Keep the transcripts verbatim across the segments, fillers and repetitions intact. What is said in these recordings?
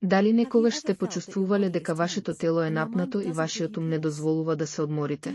Дали некогаш сте почувствувале дека вашето тело е напнато и вашиот ум не дозволува да се одморите?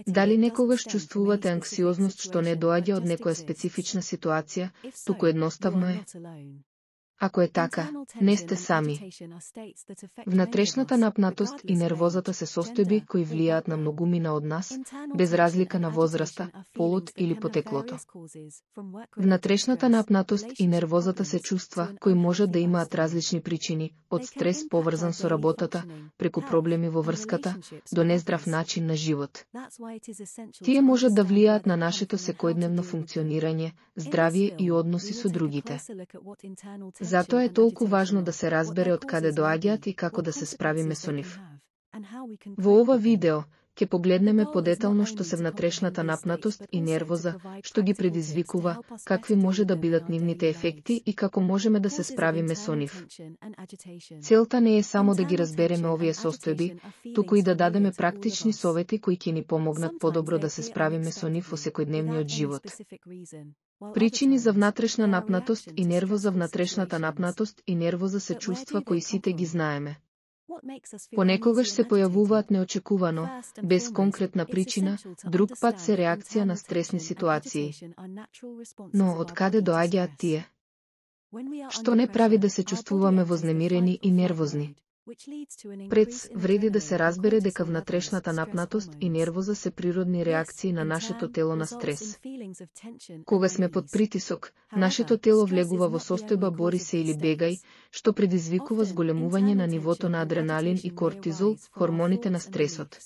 Дали некогаш чувствувате анксиозност што не доаѓа од некоја специфична ситуација, туку едноставно е? Ако е така, не сте сами. Внатрешната напнатост и нервозата се состојби кои влијаат на многумина од нас, без разлика на возраста, полот или потеклото. Внатрешната напнатост и нервозата се чувства кои можат да имаат различни причини, од стрес поврзан со работата, преку проблеми во врската, до нездрав начин на живот. Тие можат да влијаат на нашето секојдневно функционирање, здравје и односи со другите. Затоа е толку важно да се разбере од каде доаѓаат и како да се справиме со нив. Во ова видео ќе погледнеме подетално што се внатрешната напнатост и нервоза, што ги предизвикува, какви може да бидат нивните ефекти и како можеме да се справиме со нив. Целта не е само да ги разбереме овие состојби, туку и да дадеме практични совети кои ќе ни помогнат подобро да се справиме со нив во секојдневниот живот. Причини за внатрешна напнатост и нервоза. Внатрешната напнатост и нервоза се чувства кои сите ги знаеме. Понекогаш се појавуваат неочекувано, без конкретна причина, друг пат се реакција на стресни ситуации. Но од каде доаѓаат тие? Што не прави да се чувствуваме вознемирени и нервозни? Пред вреди да се разбере дека внатрешната напнатост и нервоза се природни реакции на нашето тело на стрес. Кога сме под притисок, нашето тело влегува во состојба бори се или бегај, што предизвикува зголемување на нивото на адреналин и кортизол, хормоните на стресот.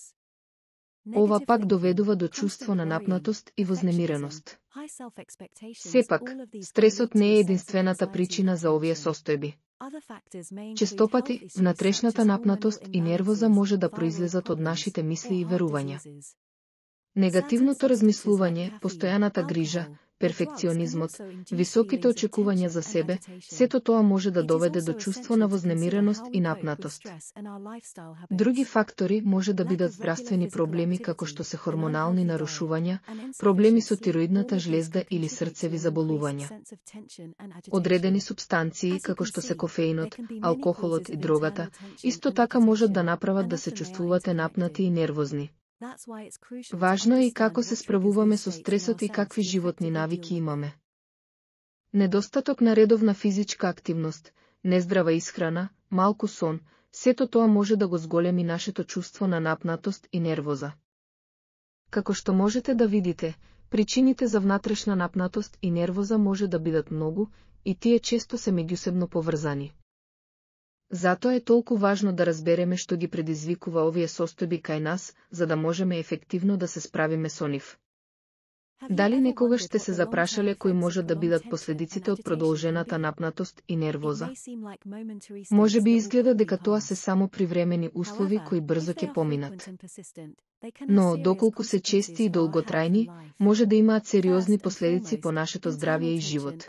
Ова пак доведува до чувство на напнатост и вознемиреност. Сепак, стресот не е единствената причина за овие состојби. Честопати, внатрешната напнатост и нервоза може да произлезат од нашите мисли и верувања. Негативното размислување, постојаната грижа, перфекционизмот, високите очекувања за себе, сето тоа може да доведе до чувство на вознемиреност и напнатост. Други фактори може да бидат здравствени проблеми како што се хормонални нарушувања, проблеми со тироидната жлезда или срцеви заболувања. Одредени субстанции како што се кофеинот, алкохолот и дрогата, исто така можат да направат да се чувствувате напнати и нервозни. Важно е и како се справуваме со стресот и какви животни навики имаме. Недостаток на редовна физичка активност, нездрава исхрана, малку сон, сето тоа може да го зголеми нашето чувство на напнатост и нервоза. Како што можете да видите, причините за внатрешна напнатост и нервоза може да бидат многу, и тие често се меѓусебно поврзани. Затоа е толку важно да разбереме што ги предизвикува овие состојби кај нас, за да можеме ефективно да се справиме со нив. Дали некогаш сте се запрашале кои можат да бидат последиците од продолжената напнатост и нервоза? Може би изгледа дека тоа се само привремени услови кои брзо ќе поминат. Но, доколку се чести и долготрајни, може да имаат сериозни последици по нашето здравје и живот.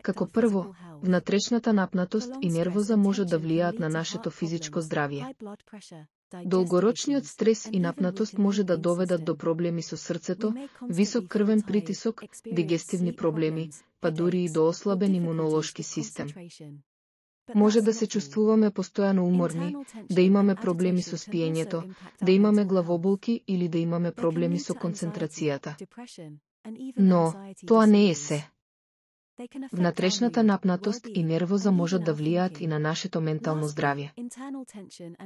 Како прво, внатрешната напнатост и нервоза може да влијаат на нашето физичко здравје. Долгорочниот стрес и напнатост може да доведат до проблеми со срцето, висок крвен притисок, дигестивни проблеми, па дури и до ослабен имунолошки систем. Може да се чувствуваме постојано уморни, да имаме проблеми со спиењето, да имаме главоболки или да имаме проблеми со концентрацијата. Но, тоа не е се. Внатрешната напнатост и нервоза можат да влијаат и на нашето ментално здравје.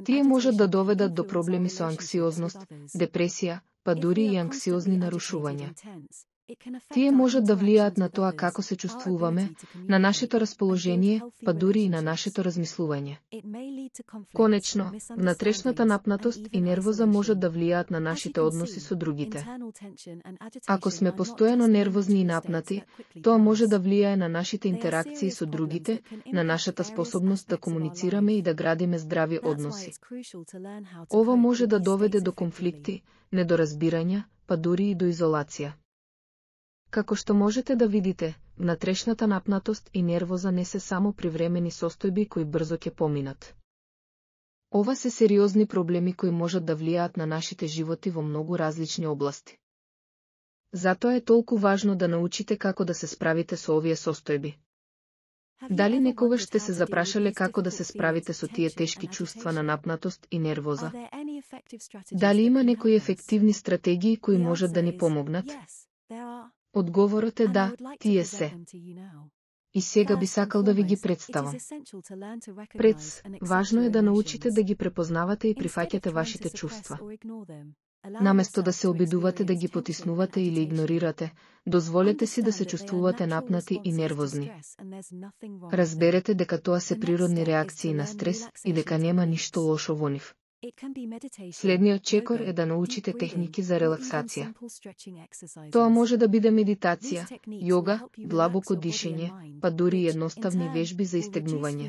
Тие можат да доведат до проблеми со анксиозност, депресија, па дури и анксиозни нарушувања. Тие можат да влијаат на тоа како се чувствуваме, на нашето расположение, па дури и на нашето размислување. Конечно, внатрешната напнатост и нервоза можат да влијаат на нашите односи со другите. Ако сме постојано нервозни и напнати, тоа може да влијае на нашите интеракции со другите, на нашата способност да комуницираме и да градиме здрави односи. Ова може да доведе до конфликти, недоразбирања, па дури и до изолација. Како што можете да видите, внатрешната напнатост и нервоза не се само привремени состојби кои брзо ќе поминат. Ова се сериозни проблеми кои можат да влијаат на нашите животи во многу различни области. Затоа е толку важно да научите како да се справите со овие состојби. Дали некогаш сте се запрашале како да се справите со тие тешки чувства на напнатост и нервоза? Дали има некои ефективни стратегии кои можат да ни помогнат? Одговорот е да, тие се. И сега би сакал да ви ги представам. Пред, важно е да научите да ги препознавате и прифаќате вашите чувства. Наместо да се обидувате да ги потиснувате или игнорирате, дозволете си да се чувствувате напнати и нервозни. Разберете дека тоа се природни реакции на стрес и дека нема ништо лошо во нив. Следниот чекор е да научите техники за релаксација. Тоа може да биде медитација, јога, длабоко дишење, па дури и едноставни вежби за истегнување.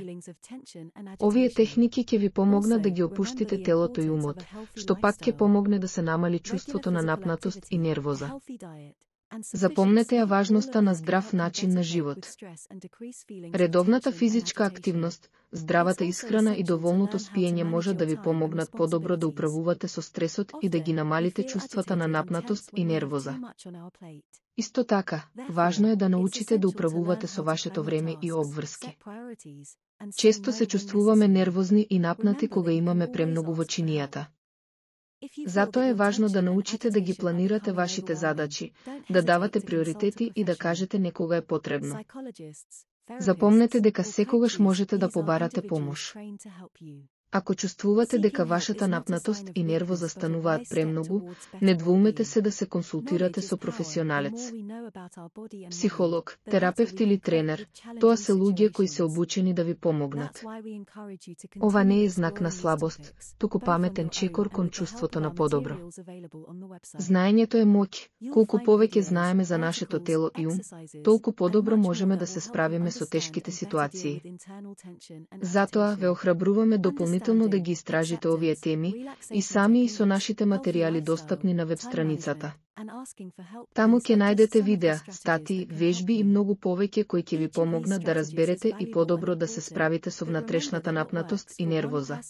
Овие техники ќе ви помогнат да ги опуштите телото и умот, што пак ќе помогне да се намали чувството на напнатост и нервоза. Запомнете ја важноста на здрав начин на живот. Редовната физичка активност, здравата исхрана и доволното спиење може да ви помогнат подобро да управувате со стресот и да ги намалите чувствата на напнатост и нервоза. Исто така, важно е да научите да управувате со вашето време и обврски. Често се чувствуваме нервозни и напнати кога имаме премногу во чинијата. Затоа е важно да научите да ги планирате вашите задачи, да давате приоритети и да кажете некога е потребно. Запомнете дека секогаш можете да побарате помош. Ако чувствувате дека вашата напнатост и нервоза стануваат премногу, не двоумете се да се консултирате со професионалец. Психолог, терапевт или тренер, тоа се луѓе кои се обучени да ви помогнат. Ова не е знак на слабост, туку паметен чекор кон чувството на подобро. Знаењето е моќ. Колку повеќе знаеме за нашето тело и ум, толку подобро можеме да се справиме со тешките ситуации. Затоа ве охрабруваме дополнително да ги истражите овие теми и сами и со нашите материјали достапни на веб страницата. Таму ќе најдете видеа, статии, вежби и многу повеќе кои ќе ви помогнат да разберете и подобро да се справите со внатрешната напнатост и нервоза.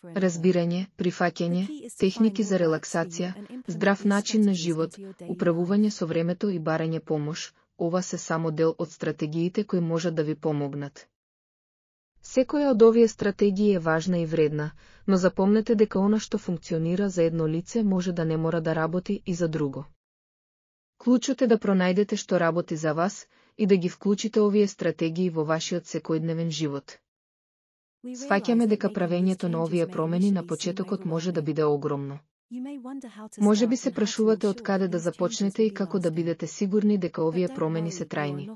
Разбирање, прифаќање, техники за релаксација, здрав начин на живот, управување со времето и барање помош, ова се само дел од стратегиите кои можат да ви помогнат. Секоја од овие стратегии е важна и вредна, но запомнете дека она што функционира за едно лице може да не мора да работи и за друго. Клучот е да пронајдете што работи за вас и да ги вклучите овие стратегии во вашиот секојдневен живот. Сваќаме дека правењето на овие промени на почетокот може да биде огромно. Може би се прашувате од каде да започнете и како да бидете сигурни дека овие промени се трајни.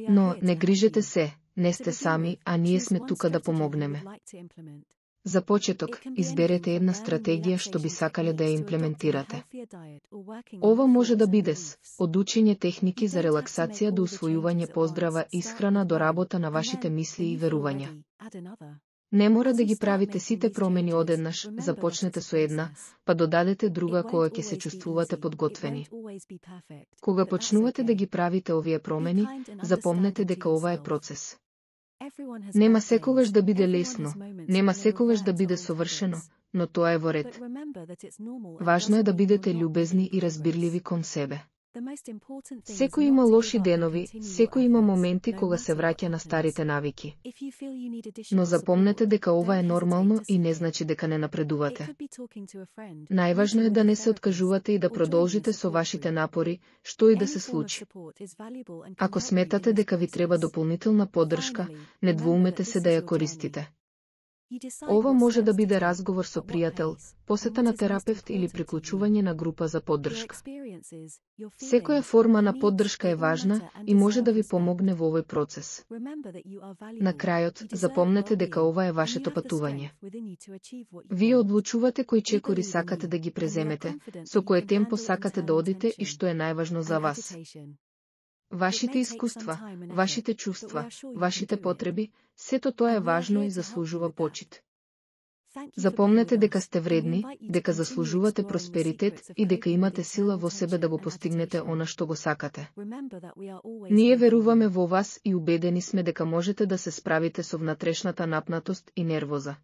Но не грижете се, не сте сами, а ние сме тука да помогнеме. За почеток, изберете една стратегија што би сакале да ја имплементирате. Ова може да биде с од учење техники за релаксација до усвојување поздрава исхрана до работа на вашите мисли и верувања. Не мора да ги правите сите промени одеднаш, започнете со една, па додадете друга кога ќе се чувствувате подготвени. Кога почнувате да ги правите овие промени, запомнете дека ова е процес. Нема секогаш да биде лесно, нема секогаш да биде совршено, но тоа е во ред. Важно е да бидете љубезни и разбирливи кон себе. Секој има лоши денови, секој има моменти кога се враќа на старите навики. Но запомнете дека ова е нормално и не значи дека не напредувате. Најважно е да не се откажувате и да продолжите со вашите напори, што и да се случи. Ако сметате дека ви треба дополнителна поддршка, не двоумете се да ја користите. Ова може да биде разговор со пријател, посета на терапевт или приклучување на група за поддршка. Секоја форма на поддршка е важна и може да ви помогне во овој процес. На крајот, запомнете дека ова е вашето патување. Вие одлучувате кои чекори сакате да ги преземете, со кое темпо сакате да одите и што е најважно за вас. Вашите искуства, вашите чувства, вашите потреби, сето тоа е важно и заслужува почит. Запомнете дека сте вредни, дека заслужувате просперитет и дека имате сила во себе да го постигнете она што го сакате. Ние веруваме во вас и убедени сме дека можете да се справите со внатрешната напнатост и нервоза.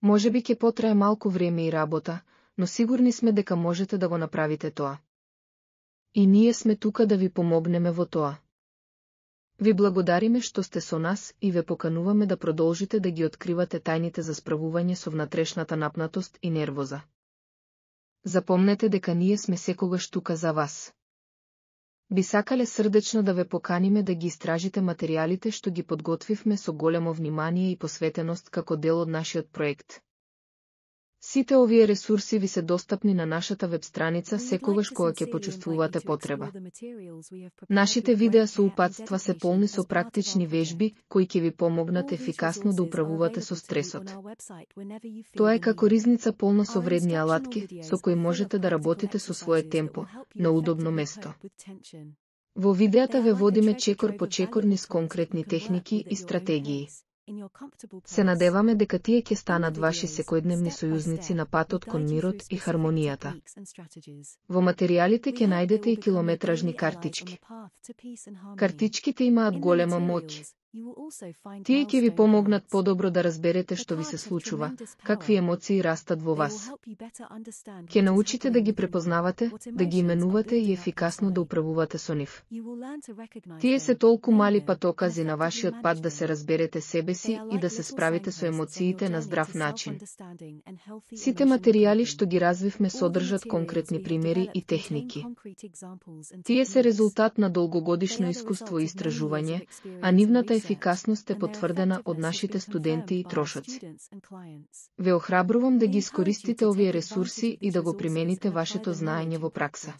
Можеби ќе потрае малку време и работа, но сигурни сме дека можете да го направите тоа. И ние сме тука да ви помогнеме во тоа. Ви благодариме што сте со нас и ве покануваме да продолжите да ги откривате тајните за справување со внатрешната напнатост и нервоза. Запомнете дека ние сме секогаш тука за вас. Би сакале срдечно да ве поканиме да ги истражите материјалите што ги подготвивме со големо внимание и посветеност како дел од нашиот проект. Сите овие ресурси ви се достапни на нашата веб страница секогаш кога ќе почувствувате потреба. Нашите видеа со упатства се полни со практични вежби кои ќе ви помогнат ефикасно да управувате со стресот. Тоа е како ризница полна со вредни алатки, со кои можете да работите со свое темпо, на удобно место. Во видеата ве водиме чекор по чекор низ конкретни техники и стратегии. Се надеваме дека тие ќе станат ваши секојдневни сојузници на патот кон мирот и хармонијата. Во материјалите ќе најдете и километражни картички. Картичките имаат голема моќ. Тие ќе ви помогнат подобро да разберете што ви се случува, какви емоции растат во вас. Ќе научите да ги препознавате, да ги именувате и ефикасно да управувате со нив. Тие се толку мали патокази на вашиот пат да се разберете себе си и да се справите со емоциите на здрав начин. Сите материјали што ги развивме содржат конкретни примери и техники. Тие се резултат на долгогодишно искуство и истражување, а нивната ефикасност е потврдена од нашите студенти и трошоци. Ве охрабрувам да ги искористите овие ресурси и да го примените вашето знаење во пракса.